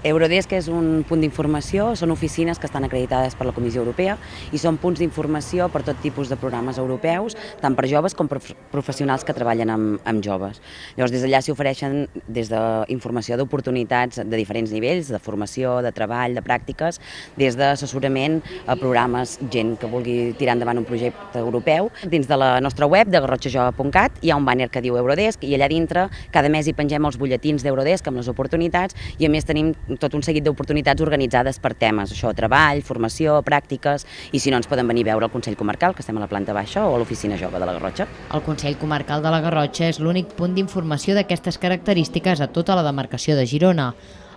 Eurodesk és un punt d'informació, són oficines que estan acreditades per la Comissió Europea i són punts d'informació per tot tipus de programes europeus, tant per joves com per professionals que treballen amb joves. Llavors, des d'allà s'hi ofereixen des d'informació d'oportunitats de diferents nivells, de formació, de treball, de pràctiques, des d'assessorament a programes, gent que vulgui tirar endavant un projecte europeu. Dins de la nostra web, de garrotxajove.cat, hi ha un banner que diu Eurodesk i allà dintre cada mes hi pengem els butlletins d'Eurodesk amb les oportunitats i a més tenim tot un seguit d'oportunitats organitzades per temes, això, treball, formació, pràctiques, i si no ens poden venir a veure al Consell Comarcal, que estem a la planta baixa, o a l'Oficina Jove de la Garrotxa. El Consell Comarcal de la Garrotxa és l'únic punt d'informació d'aquestes característiques a tota la demarcació de Girona.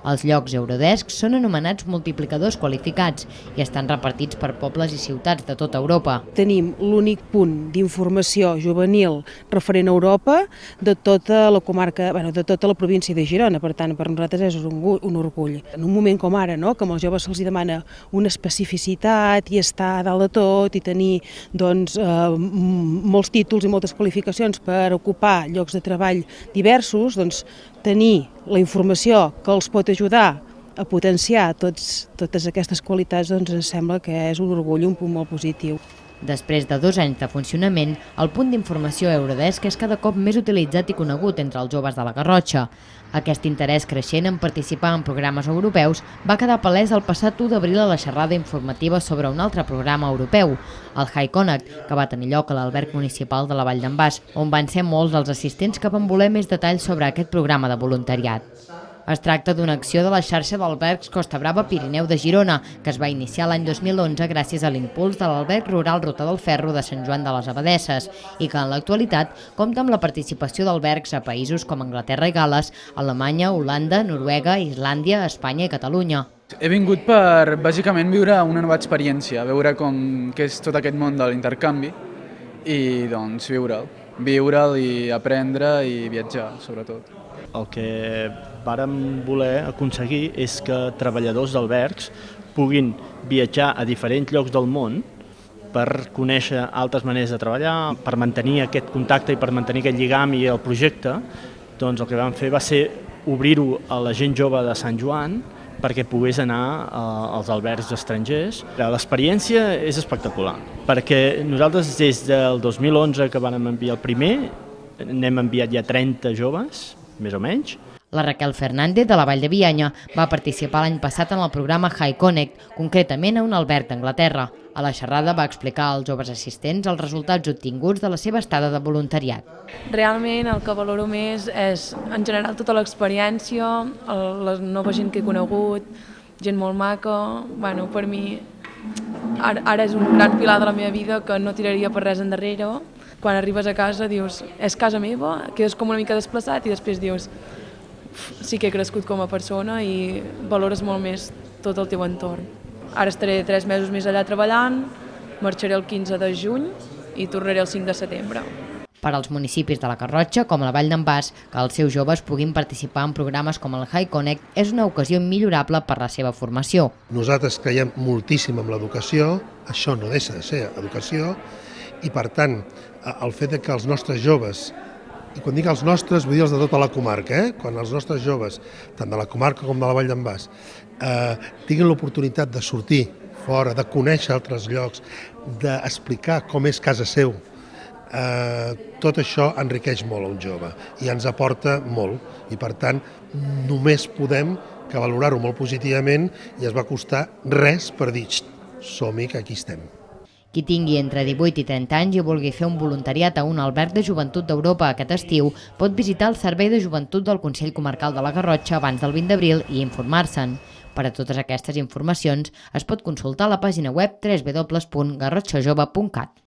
Els llocs Eurodesk són anomenats multiplicadors qualificats i estan repartits per pobles i ciutats de tota Europa. Tenim l'únic punt d'informació juvenil referent a Europa de tota la comarca, de tota la província de Girona, per tant, per nosaltres és un orgull. En un moment com ara, que als joves se'ls demana una especificitat i estar a dalt de tot i tenir molts títols i moltes qualificacions per ocupar llocs de treball diversos, tenir la informació que els pot ajudar a potenciar totes aquestes qualitats, ens sembla que és un orgull, un punt molt positiu. Després de 2 anys de funcionament, el punt d'informació Eurodesk és cada cop més utilitzat i conegut entre els joves de la Garrotxa. Aquest interès creixent en participar en programes europeus va quedar palès el passat 1 d'abril a la xerrada informativa sobre un altre programa europeu, el High Connect, que va tenir lloc a l'alberg municipal de la Vall d'en Bas, on van ser molts els assistents que van voler més detalls sobre aquest programa de voluntariat. Es tracta d'una acció de la xarxa d'albergs Costa Brava Pirineu de Girona, que es va iniciar l'any 2011 gràcies a l'impuls de l'alberg rural Ruta del Ferro de Sant Joan de les Abadesses i que en l'actualitat compta amb la participació d'albergs a països com Anglaterra i Gal·les, Alemanya, Holanda, Noruega, Islàndia, Espanya i Catalunya. He vingut per, bàsicament, viure una nova experiència, veure què és tot aquest món de l'intercanvi i, doncs, viure'l i aprendre i viatjar, sobretot. El que vàrem voler aconseguir és que treballadors d'albergs puguin viatjar a diferents llocs del món per conèixer altres maneres de treballar, per mantenir aquest contacte i per mantenir aquest lligam i el projecte. Doncs el que vam fer va ser obrir-ho a la gent jove de Sant Joan perquè pogués anar als albergs estrangers. L'experiència és espectacular, perquè nosaltres des del 2011 que vam enviar el primer, n'hem enviat ja 30 joves, més o menys. La Raquel Fernández, de la Vall de Bianya, va participar l'any passat en el programa High Connect, concretament a un alberg d'Anglaterra. A la xerrada va explicar als joves assistents els resultats obtinguts de la seva estada de voluntariat. Realment el que valoro més és, en general, tota l'experiència, la nova gent que he conegut, gent molt maca. Per mi ara és un gran pilar de la meva vida que no tiraria per res endarrere. Quan arribes a casa dius, és casa meva, quedes com una mica desplaçat i després dius, sí que he crescut com a persona i valores molt més tot el teu entorn. Ara estaré 3 mesos més allà treballant, marxaré el 15 de juny i tornaré el 5 de setembre. Per als municipis de la Garrotxa, com la Vall d'en Bas, que els seus joves puguin participar en programes com el High Connect és una ocasió millorable per la seva formació. Nosaltres creiem moltíssim en l'educació, això no deixa de ser educació, i per tant, el fet que els nostres joves, i quan dic els nostres vull dir els de tota la comarca, quan els nostres joves, tant de la comarca com de la Vall d'en Bas, tinguin l'oportunitat de sortir fora, de conèixer altres llocs, d'explicar com és casa seu, tot això enriqueix molt a un jove i ens aporta molt i per tant només podem que valorar-ho molt positivament i es va costar res per dir som-hi que aquí estem. Qui tingui entre 18 i 30 anys i vulgui fer un voluntariat a un alberg de joventut d'Europa aquest estiu pot visitar el Servei de Joventut del Consell Comarcal de la Garrotxa abans del 20 d'abril i informar-se'n. Per a totes aquestes informacions es pot consultar a la pàgina web www.garrotxajove.cat.